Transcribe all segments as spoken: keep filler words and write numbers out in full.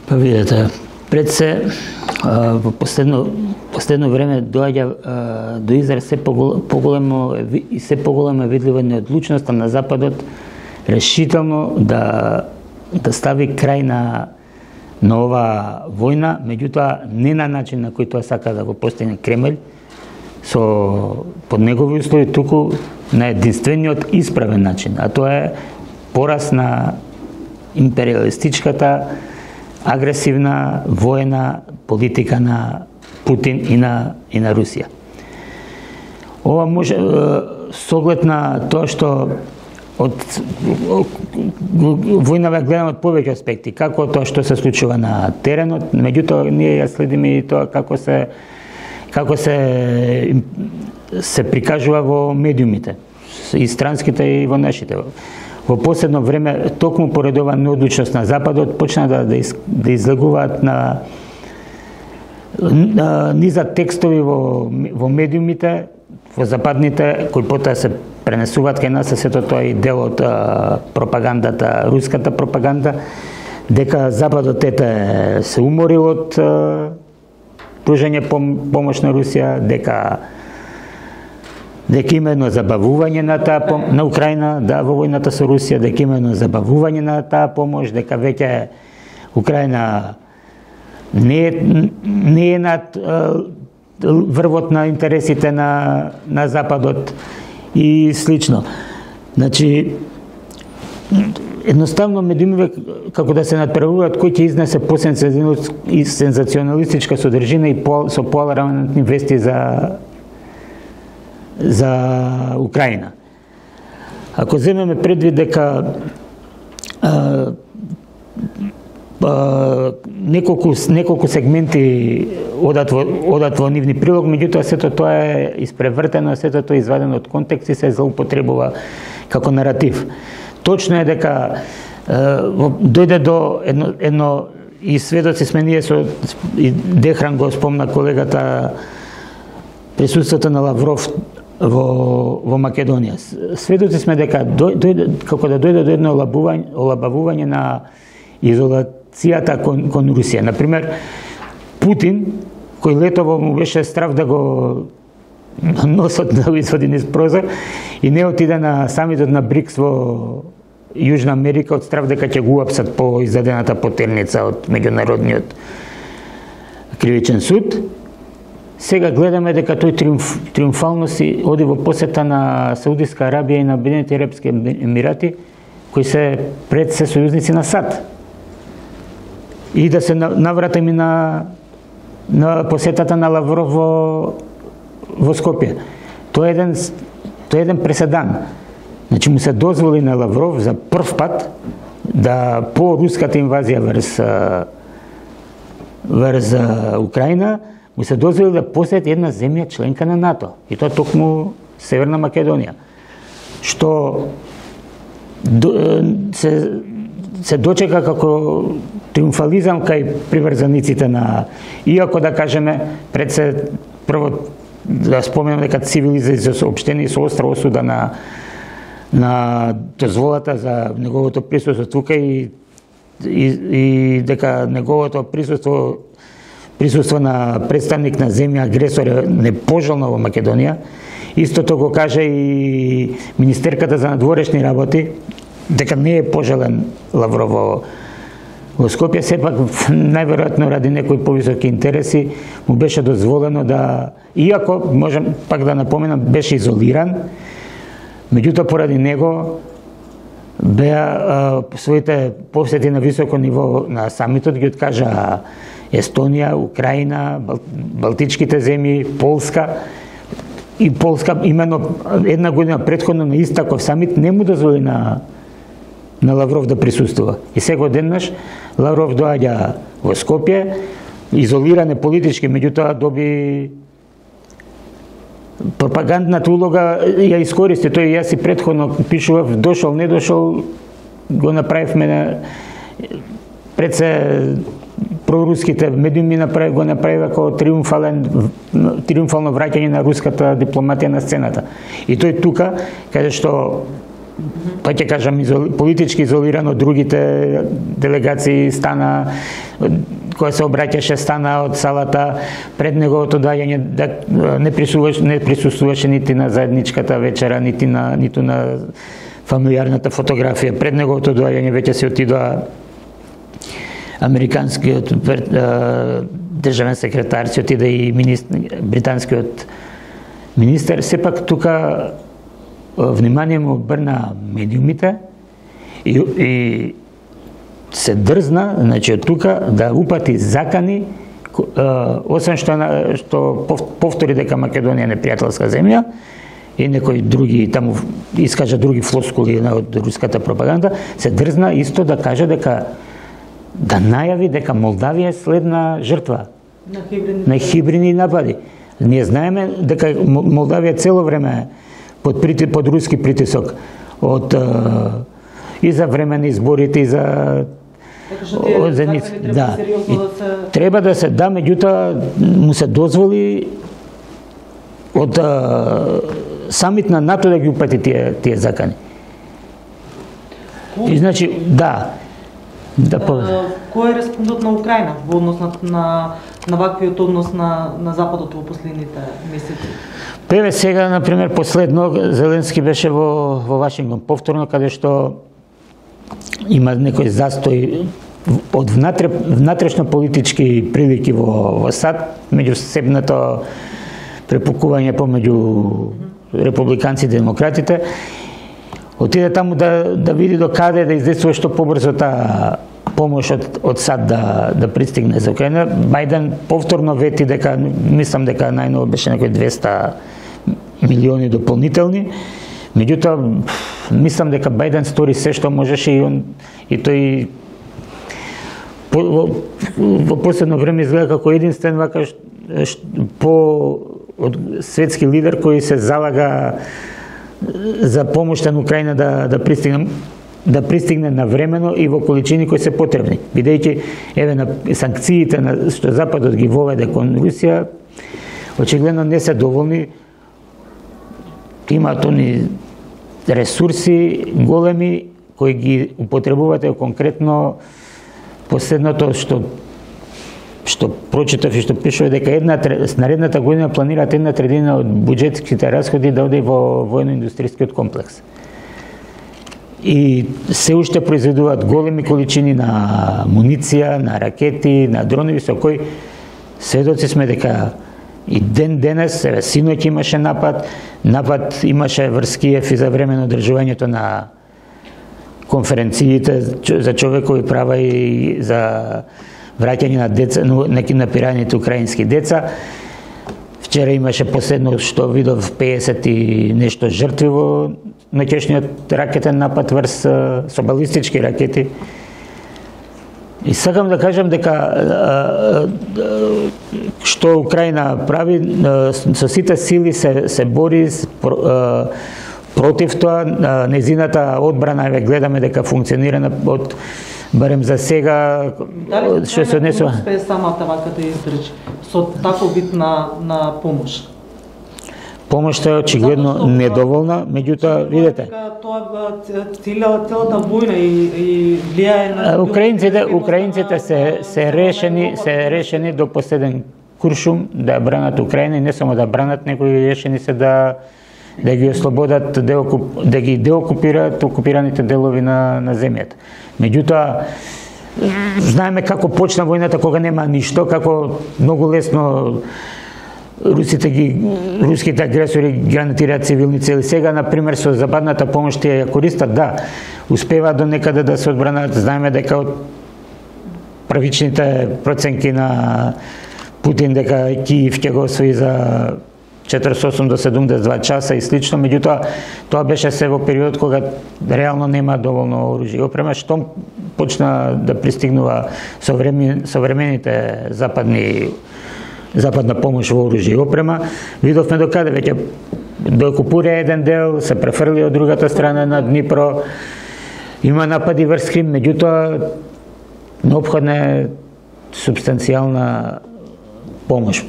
Па видете, пред се во последно последно време доаѓа до израз се поголемо и се поголема видлива неодлучноста на Западот решително да да стави крај на на ова војна, меѓутоа не на начин на кој тоа сака да го постигне Кремљ, со под негови услови, туку на единствениот исправен начин, а тоа е пораз на империалистичката агресивна воена политика на Путин и на и на Русија. Ова може со оглед на тоа што од војнава гледаме од повеќе аспекти, како тоа што се случува на теренот, меѓутоа ние ја следиме и тоа како се како се се прикажува во медиумите, и странските и во нашите. Во последно време, токму поред ова неодлучност на Западот, почна да, да, из, да излегуваат на, на низа текстови во, во медиумите, во западните, кои потоа се пренесуваат кај нас, сето тоа и дел од а, пропагандата, руската пропаганда, дека Западот ете се уморил од а, пружање пом, помош на Русија, дека дека има едно забавување на таа пом... на Украина, да, во војната со Русија, дека има едно забавување на таа помош, дека веќе Украина не е, не е над врвот на интересите на, на Западот и слично. Значи, едноставно медиумите како да се надправуваат кој ќе изнесе по-сензационалистичка содржина и по, со поалармантни вести за за Украина. Ако земеме предвид дека а, а, неколку неколку сегменти одат во одат во нивни прилог, меѓутоа сето тоа е испревртено, сето тоа е извадено од контекст и се злоупотребува како наратив. Точно е дека а, дојде до едно, едно и сведоци сме ние со и Дехран го спомна колегата, присуството на Лавров во во Македонија. Сведоци сме дека дојде како да дојде до едно олабување, олабавување на изолацијата кон, кон Русија. Например, Путин, кој летово му беше страв да го носот да го извади низ прозор и не отиде на самитот на БРИКС во Јужна Америка од страв дека ќе го уапсат по издадената потерница од меѓународниот кривичен суд. Сега гледаме дека тој триумф, триумфално си оди во посета на Саудиска Арабија и на Обединетите арапски емирати, кои се пред се сојузници на САД. И да се навратим и на на посетата на Лавров во во Скопје. Тоа е еден тоа е еден преседан. Значи му се дозволи на Лавров за прв пат да по руската инвазија врз врз Украина му се дозволи да посети една земја членка на НАТО, и тоа токму Северна Македонија, што се, се дочека како триумфализам кај приврзаниците на, иако да кажеме, пред се прво да споменам дека цивилизација соопштени со остра осуда на на дозволата за неговото присуство тука и, и, и дека неговото присуство присуство на представник на земја агресор е непожелно во Македонија. Истото го каже и министерката за надворешни работи, дека не е пожелен Лавров во, во Скопје. Сепак, најверојатно ради некои повисоки интереси, му беше дозволено да, иако, можам пак да напоменам, беше изолиран, меѓутоа поради него беа а, своите посети на високо ниво на самитот ги откажа Естонија, Украина, Бал, Балтичките земји, Полска. И Полска имено една година претходно на Истаков самит не му дозволи на на Лавров да присуствува. И сега одеднаш Лавров доаѓа во Скопје, изолиран е политички, меѓутоа доби пропагандната улога, ја искористи. Тој јас и претходно пишував, дошол, не дошол, го направивме на пред се проруските медиуми направи, го направи како триумфален триумфално враќање на руската дипломатија на сцената. И тој тука, каде што па ќе кажам изоли, политички изолиран од другите делегации, стана која се обраќаше, стана од салата пред неговото доаѓање, да не присуствуваше, не присуствуваше нити на заедничката вечера, нити на ниту на фамилиарната фотографија. Пред неговото доаѓање веќе се отидоа американскиот државен секретар, се отиде и министр, британскиот министер. Сепак тука внимание му обрна медиумите и, и се дрзна, значи од тука да упати закани, освен што што повтори дека Македонија е непријателска земја и некои други таму искажа други флоскули од руската пропаганда, се дрзна исто да каже дека да најави дека Молдавија е следна жртва на хибридни, на хибридни напади. Ние знаеме дека Молдавија цело време под прити, под руски притисок од и за време на изборите и за од зеници. Да. И треба да се да, меѓутоа му се дозволи од а, самит на НАТО да ги упати тие тие закани. И значи да. Да, по... Кој е респондот на Украина во однос на, на, на ваквиот однос на, на Западот во последните месеци? Певе сега, например, последно, Зеленски беше во, во Вашингтон повторно, каде што има некој застој од внатре, внатрешно политички прилики во, во САД, меѓусебното препукување помеѓу републиканците и демократите. Отиде таму да, да види до каде да издействува што побрзо таа помош од, од САД да, да пристигне за Украина. Бајден повторно вети дека, мислам дека најново беше некои двеста милиони дополнителни. Меѓутоа, мислам дека Бајден стори се што можеше и он и тој по, во, во последно време изгледа како единствен вака по од светски лидер кој се залага за помошта на Украина да да пристигне да пристигне навремено и во количини кои се потребни. Бидејќи еве на санкциите на што Западот ги воведе кон Русија, очигледно не се доволни. Имаат они ресурси големи кои ги употребувате конкретно. Последното што што прочитав и што пишува дека една наредната година планираат една третина од буџетските расходи да оде во воено-индустријскиот комплекс. И се уште произведуваат големи количини на муниција, на ракети, на дронови со кои сведоци сме дека и ден денес, еве синоќ имаше напад, напад имаше врз Киев и за време на одржувањето на конференциите за човекови права и за враќање на деца, неки напираните украински деца. Вчера имаше последно што видов педесет и нешто жртви во ноќешниот ракетен напад врз со балистички ракети. И сакам да кажам дека што Украина прави, со сите сили се, се бори против тоа. Незината одбрана, еве гледаме дека функционира од барем за сега што се однесува. Дали успее самата вака да издржи со таков вид на на помош? Помошта е очигледно недоволна, меѓутоа видете. Тоа целата војна и и влијае на украинците, украинците се се решени, се решени до последен куршум да бранат Украина и не само да бранат, него и решени се да да ги ослободат, да, да ги деокупираат окупираните делови на на земјата. Меѓутоа, знаеме како почна војната кога нема ништо, како многу лесно русите ги руските агресори гранатираат цивилни цели. Сега на пример со западната помош тие ја користат, да, успеваат до некаде да се одбранат. Знаеме дека од првичните проценки на Путин дека Киев ќе го освои за четиридесет и осум до седумдесет и два часа и слично, меѓутоа тоа беше се во период кога реално нема доволно оружје и опрема, што почна да пристигнува современите западни западна помош во оружје и опрема. Видовме до каде веќе доокупира еден дел, се префрли од другата страна на Днипро. Има напади врз Крим, меѓутоа неопходна е субстанцијална помош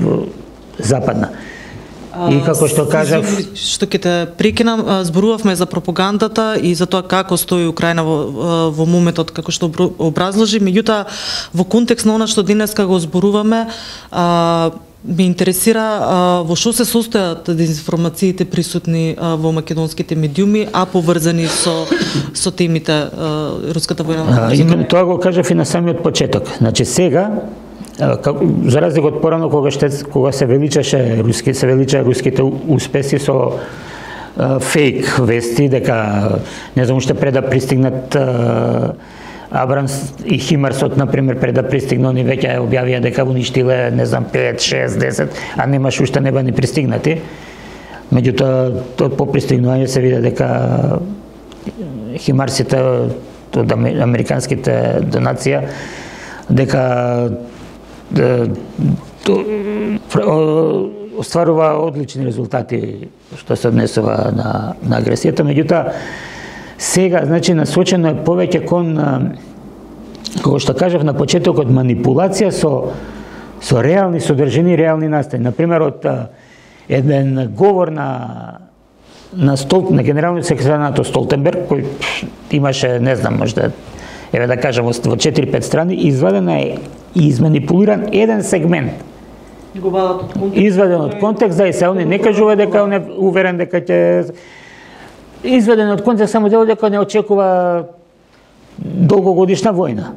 западна. И како што кажав, што ќе те прекинам, зборувавме за пропагандата и за тоа како стои Украина во, во моментот како што образложи, меѓутоа во контекст на она што денеска го зборуваме, а, ме интересира а, во што се состојат дезинформациите присутни а, во македонските медиуми, а поврзани со со темите а, руската војна. Именно тоа го кажав и на самиот почеток. Значи сега, за разлика од порано кога ще, кога се величаше руски се величаа руските успеси со фейк вести дека не знам уште пред да пристигнат Абрамс и Химарсот, например, пред да пристигна, они веќе објавија дека уништиле, не знам, пет, шест, десет, а немаш уште неба ни пристигнати. Меѓутоа, од по пристигнување се види дека Химарсите од американските донација, дека остварува одлични резултати што се однесува на, на агресијата. Меѓутоа, сега, значи, насочено е повеќе кон, како што кажав на почетокот, манипулација со, со реални содржини, реални настани. Например, од еден говор на на, Стол, на генералниот секретар НАТО Столтенберг, кој имаше, не знам, можда, еве да кажам, во четири-пет страни, извадена е и изманипулиран еден сегмент. Го вадат од контекст. Изваден од контекст, да, и се он не кажува дека он е уверен дека ќе изведен од контекст само дел дека не очекува долгогодишна војна.